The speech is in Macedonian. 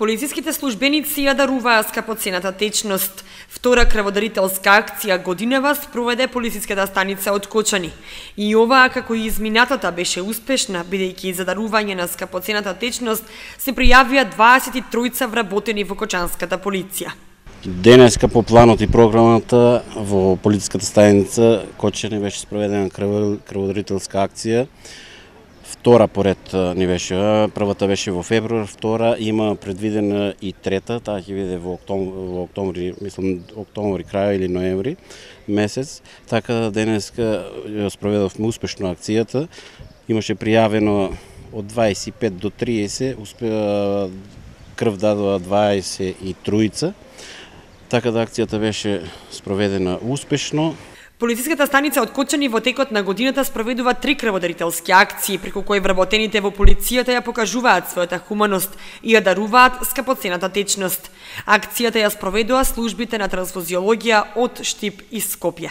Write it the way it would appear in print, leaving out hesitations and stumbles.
Полициските службеници ја даруваа скапоцената течност. Втора крводарителска акција годинава спроведе полициската станица од Кочани. И оваа, како и изминатата, беше успешна, бидејќи за дарување на скапоцената течност се пријавија 23 вработени во кочанската полиција. Денеска по планот и програмата во полициската станица Кочани беше спроведена крводарителска акција. Втора поред ни беше, првата беше во февруар, втора има предвидена и трета, таа ќе биде во октомври, мислам октомври крај или ноември месец. Така денеска ја спроведовме успешно акцијата. Имаше пријавено од 25 до 30, крв дадоа 23. Така да акцијата беше спроведена успешно. Полициската станица од Кочани во текот на годината спроведува 3 крводарителски акции, преку кои вработените во полицијата ја покажуваат својата хуманост и ја даруваат скапоцената течност. Акцијата ја спроведува службите на трансфузиологија од Штип и Скопје.